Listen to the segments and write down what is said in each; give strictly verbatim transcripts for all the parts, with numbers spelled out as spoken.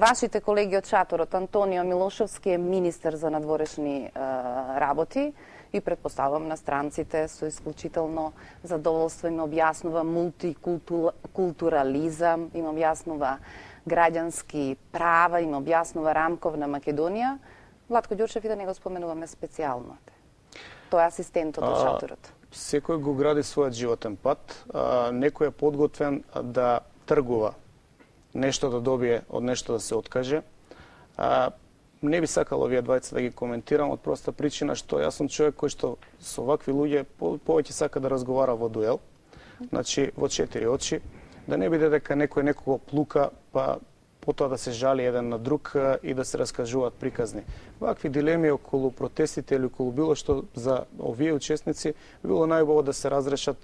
Вашите колеги од шаторот, Антонио Милошовски е министер за надворешни е, работи и предпоставам на странците со исклучително задоволство им објаснува мултикултурализам, им објаснува граѓански права, им објаснува рамковна Македонија. Владко Ѓурчев и да не го споменуваме специјално. Тој е асистентот од шаторот. Секој го гради својот животен пат. А, некој е подготвен да тргува нешто да добие, од нешто да се откаже. А, не би сакал овие двајца да ги коментирам од проста причина што јас сум човек кој што со вакви луѓе повеќе сака да разговара во дуел, значи во четири очи, да не биде дека некој некого плука, па потоа да се жали еден на друг и да се раскажуваат приказни. Вакви дилеми околу протестите или околу било што за овие учесници било најубаво да се разрешат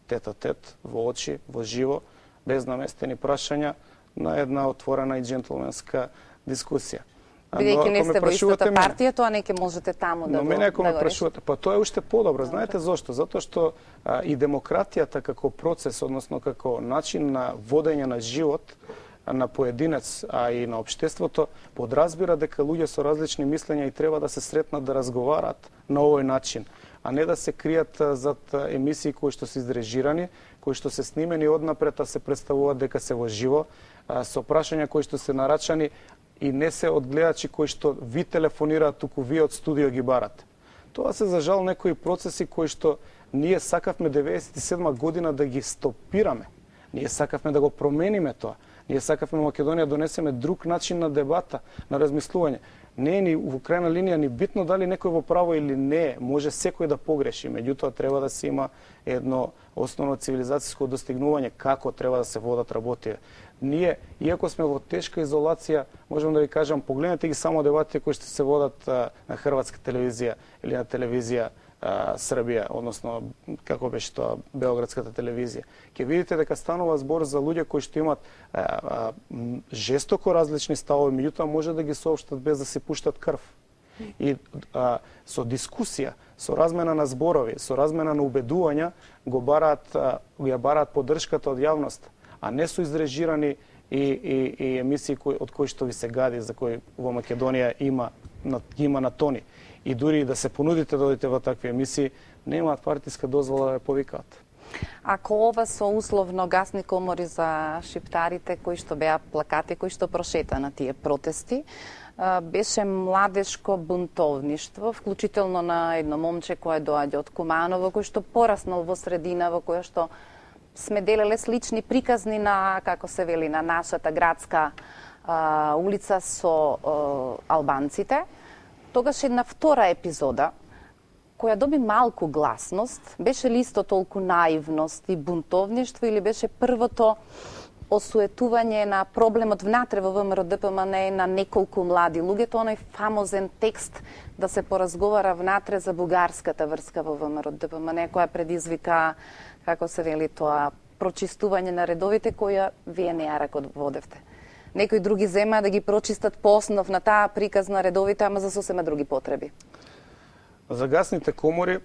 тет-а-тет, во очи, во живо, без наместени прашања, на една отворена и джентлменска дискусија. Бидејќи не сте во истата партија, тоа не ќе можете таму да го... Но мене ако ме прашувате, па тоа е уште подобро. Знаете зошто? Затоа што а, и демократијата како процес, односно како начин на водење на живот на поединец, а и на општеството, подразбира дека луѓе со различни мислења и треба да се сретнат да разговараат на овој начин, а не да се кријат зад емисии кои што се изрежирани, кои што се снимени однапред, а се представуваат дека се во живо, со прашања кои што се нарачани и не се од гледачи кои што ви телефонираат, туку вие од студио ги барате. Тоа се за жал некои процеси кои што ние сакавме деветдесет и седма година да ги стопираме. Ние сакавме да го промениме тоа. Ние сакавме Македонија да донесеме друг начин на дебата, на размислување. Не е ни во крајна линија ни битно дали некој во право или не, може секој да погреши, меѓутоа треба да се има едно основно цивилизацијско достигнување како треба да се водат работи. Ние, иако сме во тешка изолација, можам да ви кажам, погледнете ги само дебатите кои што се водат а, на хрватска телевизија или на телевизија а, Србија, односно како беше тоа Белградската телевизија. Ќе видите дека станува збор за луѓе кои што имаат а, а, жестоко различни ставови, меѓутоа може да ги соопштат без да се пуштат крв. И а, со дискусија, со размена на зборови, со размена на убедувања го бараат, а, ја бараат поддршката од јавноста, а не со изрежирани и, и, и емисии кои, од кои што ви се гади, за кои во Македонија има на, има на тони. И дури да се понудите да одите во такви емисии, немаат партиска дозвола да ја повикаат. Ако ова со условно гасни комори за шиптарите, кои што беа плакати, кои што прошета на тие протести, беше младешко бунтовништво, вклучително на едно момче кое доаѓа од Куманово, кој што пораснал во средина во која што сме делеле слични приказни на, како се вели, на нашата градска а, улица со а, албанците. Тогаш една втора епизода, која доби малку гласност, беше ли исто толку наивност и бунтовништво или беше првото осуетување на проблемот внатре во ВМРО Д П М Н на неколку млади луѓе, тоа оној фамозен текст да се поразговара внатре за бугарската врска во ВМРО Д П М Н, која предизвика, како се вели тоа, прочистување на редовите која вие не ја раководевте. Некои други зема да ги прочистат по основ на таа приказ на редовите, ама за сосема други потреби. За гасните комори,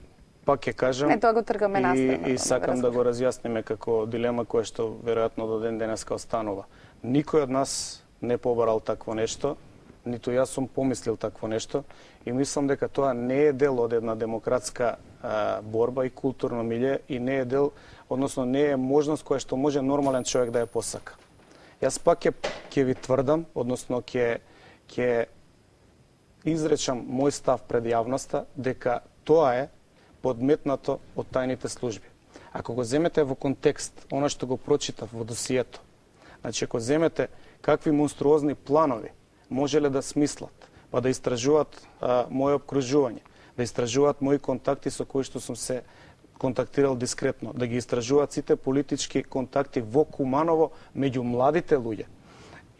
пак ќе кажам, не, тоа го тргаме и, и сакам да го разјасниме како дилема која што веројатно до ден денеска останува. Никој од нас не побарал такво нешто, ниту јас сум помислил такво нешто и мислам дека тоа не е дел од една демократска а, борба и културно милје и не е дел, односно не е можност која што може нормален човек да ја посака. Јас пак ќе ќе ви тврдам, односно ќе ќе изречам мој став пред јавноста дека тоа е подметнато од тајните служби. Ако го земете во контекст, она што го прочитав во досието, значи ако земете какви монструозни планови можеле да смислат, па да истражуваат а, моје обкружување, да истражуваат мои контакти со кои што сум се контактирал дискретно, да ги истражуваат сите политички контакти во Куманово меѓу младите луѓе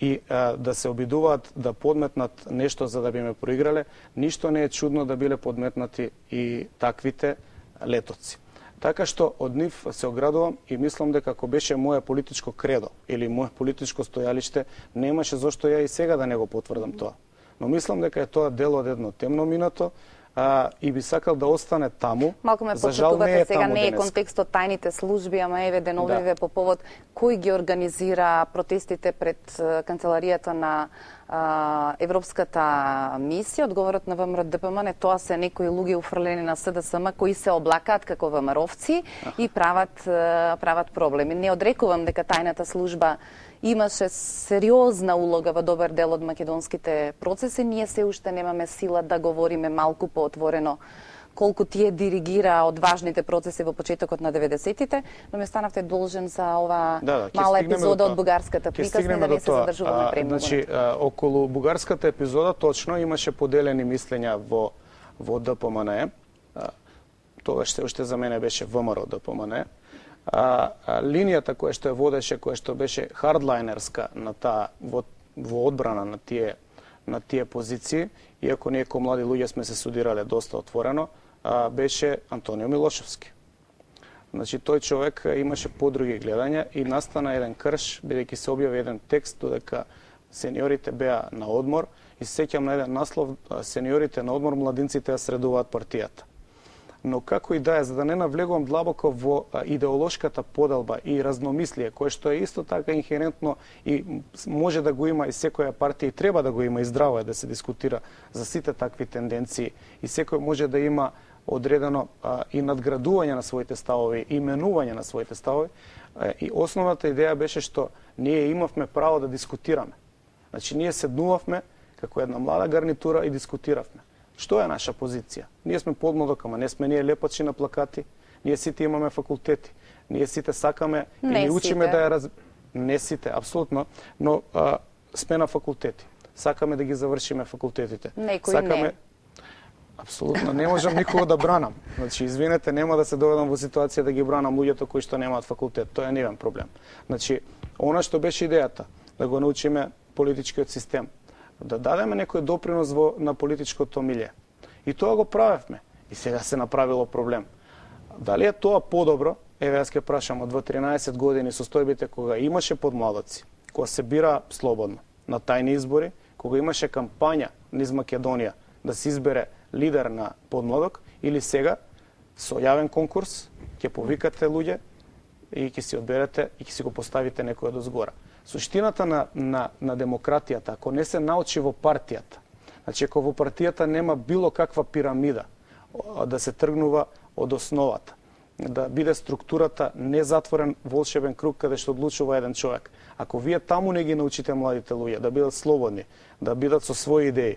и а, да се обидуваат да подметнат нешто за да би ме проиграле, ништо не е чудно да биле подметнати и таквите летоци. Така што од нив се оградувам и мислам дека ако беше моје политичко кредо или моје политичко стојалиште, немаше зошто ја и сега да не го потврдам тоа. Но мислам дека е тоа дел од едно темно минато, а, и би сакал да остане таму. Малку ме За жал не е потсетувате, сега таму не е денеска. контекстот тајните служби, ама еве деновиве Да. по повод кој ги организира протестите пред е, канцеларијата на а, Европската мисија. Одговорот на ВМРО-ДПМ не, тоа се некои луѓе уфрлени на СДСМ кои се облакаат како ВМРО-овци и прават е, прават проблеми. Не одрекувам дека тајната служба имаше сериозна улога во добар дел од македонските процеси. Ние се уште немаме сила да говориме малку поотворено колку тие диригира од важните процеси во почетокот на деветдесетите, но ме станавте должен за ова Да, да, ќе мала стигнеме епизода до од бугарската Ќе приказна, стигнеме да до не се тоа. задржуваме А, премногу. Значи, а, околу бугарската епизода точно имаше поделени мислења во во ДПМН. А, Тоа што уште за мене беше ВМРО ДПМН. А, а линијата која што ја водеше, која што беше хардлайнерска на таа во, во одбрана на тие на тие позиции, иако ние ко млади луѓе сме се судирале доста отворено, а, беше Антонио Милошевски. Значи, тој човек имаше подруги гледања и настана еден крш, бидејќи се објави еден текст додека сениорите беа на одмор и се сеќам на еден наслов сениорите на одмор, младинците ја средуваат партијата. Но како и да е, за да не навлегувам длабоко во идеолошката поделба и разномислие, кое што е исто така инхерентно и може да го има и секоја партија и треба да го има и здраво е да се дискутира за сите такви тенденции и секој може да има одредено а, и надградување на своите ставови, и менување на своите ставови. А, и основната идеја беше што ние имавме право да дискутираме. Значи, ние седнувавме како една млада гарнитура и дискутиравме. Што е наша позиција? Ние сме подмладок, ама не сме ние лепачи на плакати. Ние сите имаме факултети. Ние сите сакаме Не и ни учиме сите. да ја раз... Не сите, апсолутно, но а, сме на факултети. Сакаме да ги завршиме факултетите. Некои Сакаме... не. Апсолутно, не можам никого да бранам. Значи, извинете, нема да се доведам во ситуација да ги бранам луѓето кои што немаат факултет. Тоа е невен проблем. Значи, она што беше идејата, да го научиме политичкиот систем, да дадеме некој допринос во, на политичкото милје. И тоа го правевме. И сега се направило проблем. Дали е тоа подобро? Еве, јас ќе прашам, од тринаесет години состојбите кога имаше подмладоци, кога се бира слободно, на тајни избори, кога имаше кампања низ Македонија да се избере лидер на подмладок, или сега, со јавен конкурс, ќе повикате луѓе и ќе си одберете и ќе си го поставите некој од озгора. Суштината на, на, на демократијата, ако не се научи во партијата, значи ако во партијата нема било каква пирамида, да се тргнува од основата, да биде структурата незатворен волшебен круг каде што одлучува еден човек. Ако вие таму не ги научите младите луѓе да бидат слободни, да бидат со своји идеи